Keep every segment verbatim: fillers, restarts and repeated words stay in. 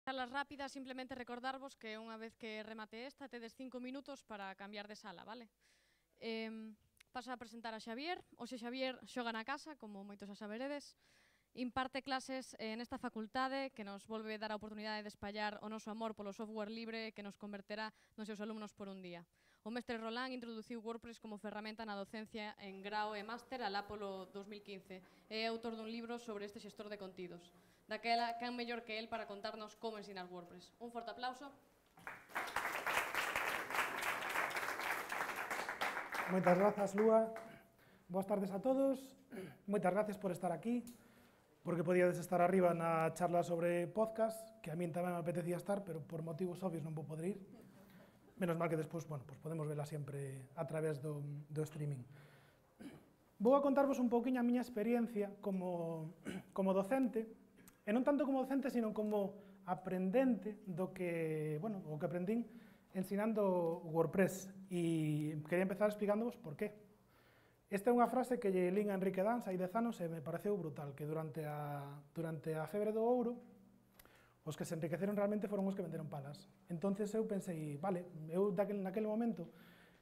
Salas rápidas, simplemente recordarvos que unha vez que remate esta, tedes cinco minutos para cambiar de sala, vale? Eh, paso a presentar a Xavier. Oxe Xavier xoga na casa, como moitos xa saberedes. Imparte clases eh, nesta facultade que nos volve dar a oportunidade de espallar o noso amor polo software libre que nos converterá nos seus alumnos por un día. O mestre Rolán introduciu WordPress como ferramenta na docencia en grao e máster alá polo dos mil quince. É autor dun libro sobre este xestor de contidos. Daquela, can mellor que el para contarnos como ensinar WordPress. Un forte aplauso. Moitas grazas, Lúa. Boas tardes a todos. Moitas gracias por estar aquí, porque podíades estar arriba na charla sobre podcast, que a min tamén me apetecía estar, pero por motivos obvios non vou poder ir. Menos mal que despois, bueno, pues podemos vela sempre a través do, do streaming. Vou a contarvos un pouquiño a miña experiencia como, como docente, e non tanto como docente, sino como aprendente do que, bueno, o que aprendín ensinando WordPress, e quería empezar explicándovos por qué. Esta é unha frase que lle lín a Enrique Dans hai dez anos e me pareceu brutal, que durante a, durante a febre do ouro, os que se enriqueceron realmente foron os que venderon palas. Entonces eu pensei, vale, eu daquel, naquele momento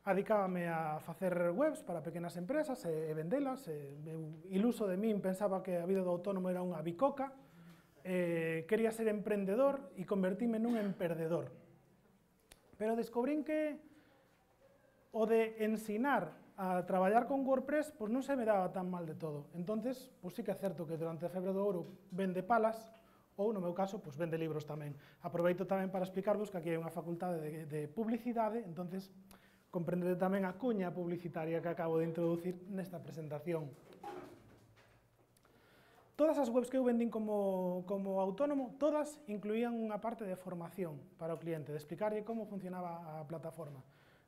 adicábame a facer webs para pequenas empresas e, e vendelas, e, eu, iluso de min, pensaba que a vida do autónomo era unha bicoca, eh, quería ser emprendedor e convertíme nun emperdedor. Pero descubrín que o de ensinar a traballar con WordPress pois non se me daba tan mal de todo. Entonces, pois sí que é certo que durante a febre do ouro vende palas, ou no meu caso, pois vende libros tamén. Aproveito tamén para explicarvos que aquí hai unha facultade de, de publicidade, entonces comprendede tamén a cuña publicitaria que acabo de introducir nesta presentación. Todas as webs que eu vendín como, como autónomo, todas incluían unha parte de formación para o cliente, de explicarlle como funcionaba a plataforma.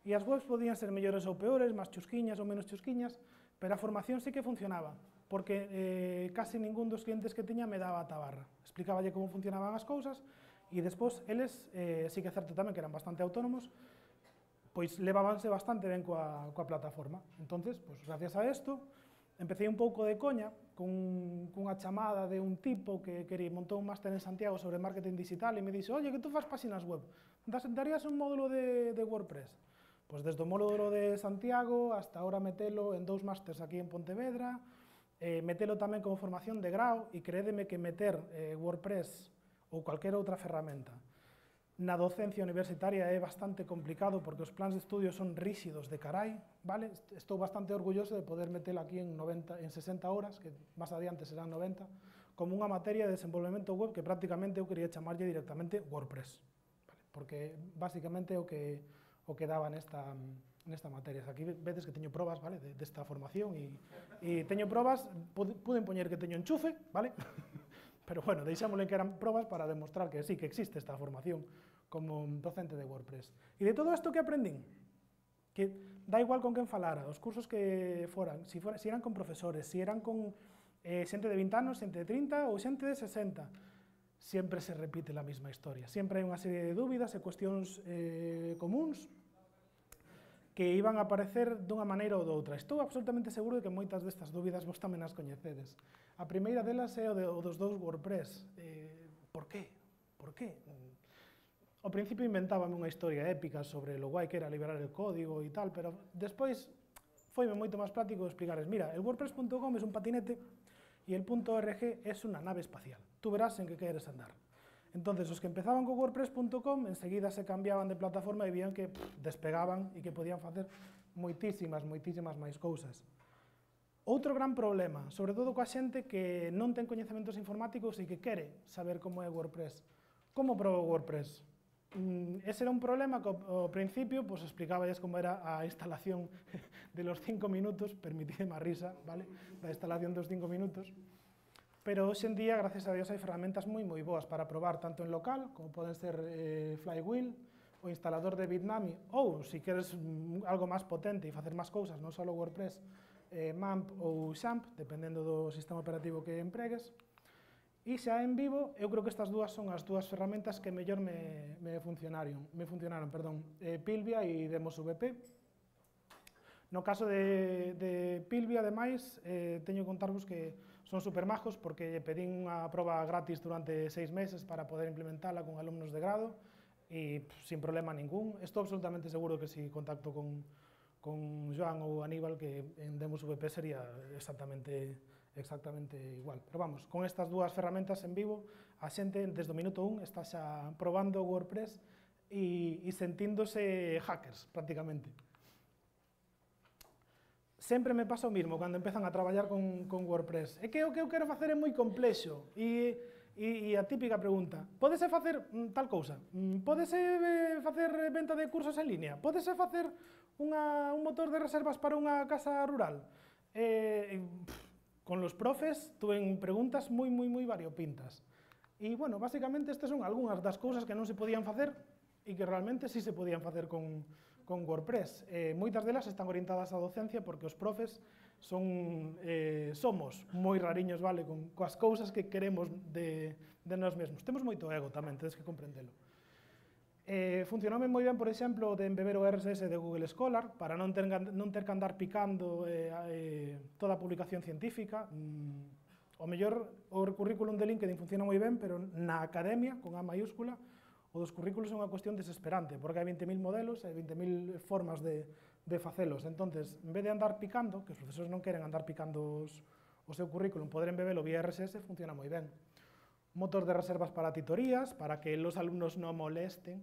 E as webs podían ser mellores ou peores, máis chusquiñas ou menos chusquiñas, pero a formación sí que funcionaba, porque eh, casi ningún dos clientes que tiña me daba a tabarra. Explicáballe como funcionaban as cousas, e despois eles, eh, sí que é certo tamén que eran bastante autónomos, pois levábanse bastante ben coa, coa plataforma. Entonces, pois, gracias a isto, empecé un pouco de coña con, cunha chamada de un tipo que, que montou un máster en Santiago sobre marketing digital e me dixo, oye, que tú fas páxinas web, darías un módulo de, de WordPress? Pois desde o módulo de Santiago hasta ahora metelo en dous másters aquí en Pontevedra, eh, metelo tamén como formación de grau, e crédeme que meter eh, WordPress ou calquera outra ferramenta na docencia universitaria é bastante complicado porque os plans de estudio son ríxidos de carai, vale? Estou bastante orgulloso de poder metelo aquí en, noventa, en sesenta horas, que máis adiante serán noventa, como unha materia de desenvolvemento web que prácticamente eu quería chamarlle directamente WordPress, vale? Porque basicamente é o que, o que daba nesta, nesta materia. Aquí vedes que teño probas, vale, de, desta formación e, e teño probas, puden poñer que teño enchufe, vale? Pero bueno, deixámosle que eran probas para demostrar que sí, que existe esta formación como docente de WordPress. E de todo isto que aprendín, que dá igual con quen falara, os cursos que foran, si, fora, si eran con profesores, si eran con eh, xente de vinte anos, xente de trinta ou xente de sesenta, sempre se repite a mesma historia. Sempre hai unha serie de dúbidas e cuestións eh, comuns que iban a aparecer dunha maneira ou doutra. Estou absolutamente seguro de que moitas destas dúbidas vos tamén as coñecedes. A primeira delas é o, de, o dos dous WordPress. Eh, por qué? Por qué? Ao principio inventábame unha historia épica sobre lo guai que era liberar el código e tal, pero despois foime moito máis práctico explicarles, mira, el WordPress punto com é un patinete e el .org é unha nave espacial. Tú verás en que queres andar. Entonces, os que empezaban con WordPress punto com, enseguida se cambiaban de plataforma e vían que pff, despegaban e que podían facer moitísimas, moitísimas máis cousas. Outro gran problema, sobre todo coa xente que non ten coñecementos informáticos e que quere saber como é WordPress. Como probo WordPress? Mm, ese era un problema que ao principio pues, explicaballes como era a instalación de los cinco minutos, permitidme a risa, vale? Da instalación dos cinco minutos. Pero hoxe en día, gracias a Dios, hai ferramentas moi moi boas para probar tanto en local, como poden ser eh, Flywheel, o instalador de Bitnami, ou, se queres algo máis potente e facer máis cousas, non só WordPress, eh, MAMP ou XAMPP, dependendo do sistema operativo que empregues. E xa en vivo, eu creo que estas dúas son as dúas ferramentas que mellor me, me funcionaron, me funcionaron, perdón, eh, Pilvia e DemosVP. No caso de, de Pilvia, ademais, eh, teño que contarvos que son supermajos porque pedín unha proba gratis durante seis meses para poder implementarla con alumnos de grado e pff, sin problema ningún. Estou absolutamente seguro que si contacto con, con Joan ou Aníbal, que en Demos V P sería exactamente, exactamente igual. Pero vamos, con estas dúas ferramentas en vivo, a xente desde o minuto un está xa probando WordPress e, e sentíndose hackers, prácticamente. Sempre me pasa o mismo cando empezan a traballar con, con WordPress. É que o que eu quero facer é moi complexo e, e, e a típica pregunta, pódese facer mm, tal cousa? Mm, pódese eh, facer venta de cursos en línea? Pódese facer unha, un motor de reservas para unha casa rural? Eh, pff, con los profes tuven preguntas moi, moi, moi variopintas. E, bueno, basicamente, estas son algunhas das cousas que non se podían facer e que realmente sí se podían facer con con WordPress. Eh, moitas delas están orientadas á docencia porque os profes son, eh, somos moi rariños, vale, con coas cousas que queremos de, de nós mesmos. Temos moito ego tamén, tedes que comprendelo. Eh, funcionoume moi ben, por exemplo, de embeber o R S S de Google Scholar para non ter, non ter que andar picando eh, eh, toda a publicación científica. Mm, o mellor, o currículum de LinkedIn funciona moi ben, pero na academia, con A mayúscula, o dos currículos é unha cuestión desesperante, porque hai vinte mil modelos e vinte mil formas de, de facelos. Entonces, en vez de andar picando, que os profesores non queren andar picando os, o seu currículum, poder embebelo vía R S S funciona moi ben. Motor de reservas para titorías, para que los alumnos non molesten.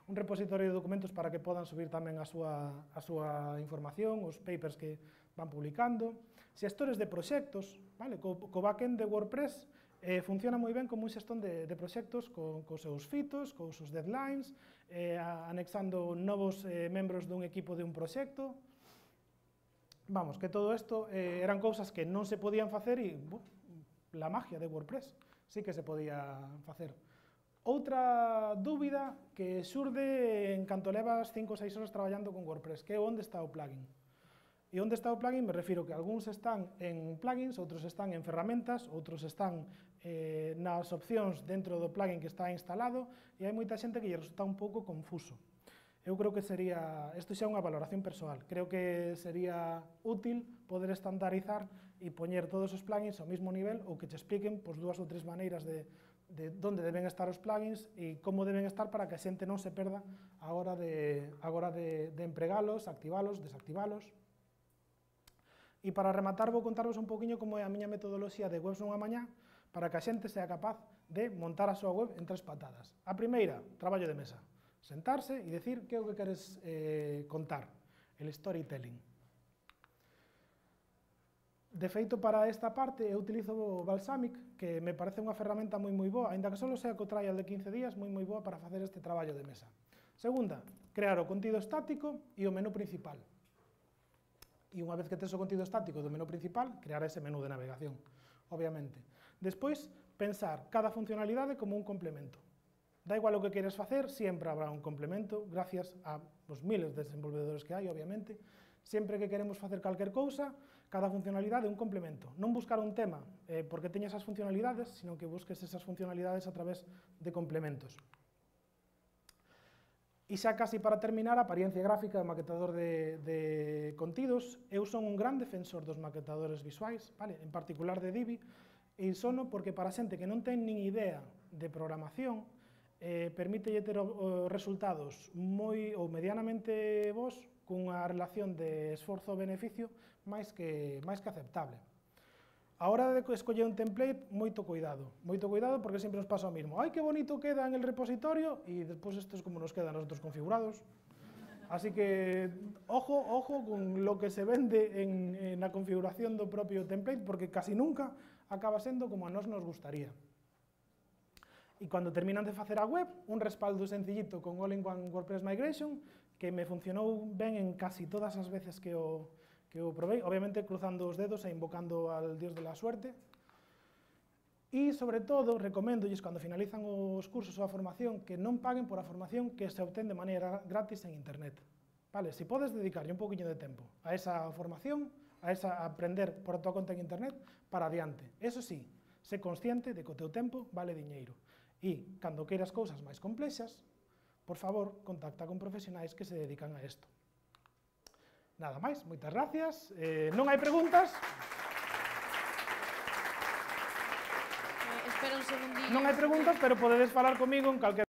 Un repositorio de documentos para que podan subir tamén a súa, a súa información, os papers que van publicando. Xestores de proxectos, vale? Co, co backend de WordPress, Eh, funciona moi ben como un xestón de, de proxectos co, cos seus fitos, cos seus deadlines, eh, anexando novos eh, membros dun equipo de un proxecto. Vamos, que todo isto eh, eran cousas que non se podían facer e bu, la magia de WordPress sí que se podía facer. Outra dúbida que xurde en canto levas cinco ou seis horas traballando con WordPress, que é onde está o plugin. E onde está o plugin me refiro que algúns están en plugins, outros están en ferramentas, outros están eh, nas opcións dentro do plugin que está instalado e hai moita xente que lle resulta un pouco confuso. Eu creo que sería, isto xa é unha valoración persoal, creo que sería útil poder estandarizar e poñer todos os plugins ao mesmo nivel ou que te expliquen pois, dúas ou tres maneiras de, de onde deben estar os plugins e como deben estar para que a xente non se perda a hora de, a hora de, de empregalos, activalos, desactivalos. E para rematar vou contarvos un poquinho como é a miña metodoloxía de webs nunha mañá para que a xente sea capaz de montar a súa web en tres patadas. A primeira, traballo de mesa. Sentarse e decir que é o que queres eh, contar, el storytelling. De feito, para esta parte, eu utilizo o Balsamic, que me parece unha ferramenta moi moi boa, aínda que só sea co trial de quince días, moi moi boa para facer este traballo de mesa. Segunda, crear o contido estático e o menú principal. E unha vez que tes o contido estático do menú principal, crear ese menú de navegación, obviamente. Despois, pensar cada funcionalidade como un complemento. Da igual o que queres facer, sempre habrá un complemento, gracias a os miles de desenvolvedores que hai, obviamente. Sempre que queremos facer calquer cousa, cada funcionalidade é un complemento. Non buscar un tema eh, porque teña esas funcionalidades, sino que busques esas funcionalidades a través de complementos. E xa casi para terminar, a apariencia gráfica do maquetador de, de contidos. Eu son un gran defensor dos maquetadores visuais, vale? En particular de Divi, e sono porque para xente que non ten nin idea de programación, eh, permítelle ter o, o resultados moi ou medianamente bons cunha relación de esforzo-beneficio máis que, máis que aceptable. A hora de escoller un template, moito cuidado. Moito cuidado porque sempre nos pasa o mismo. Ai, que bonito queda en el repositorio e despois isto es como nos quedan nosotros configurados. Así que, ojo, ojo con lo que se vende en, en la configuración do propio template porque casi nunca acaba sendo como a nós nos gustaría. E cando terminan de facer a web, un respaldo sencillito con All-in-One WordPress Migration que me funcionou ben en casi todas as veces que o que eu probei, obviamente cruzando os dedos e invocando al dios de la suerte. E, sobre todo, recoméndolles, cando finalizan os cursos ou a formación, que non paguen por a formación que se obtén de maneira gratis en internet. Vale, se podes dedicarlle un poquinho de tempo a esa formación, a esa a aprender por a tua conta en internet, para adiante. Eso sí, sé consciente de que o teu tempo vale diñeiro. E, cando queiras cousas máis complexas, por favor, contacta con profesionais que se dedican a isto. Nada máis, moitas gracias. Eh, non hai preguntas? Espera un segundinho. Non hai preguntas, pero podedes falar comigo en calquera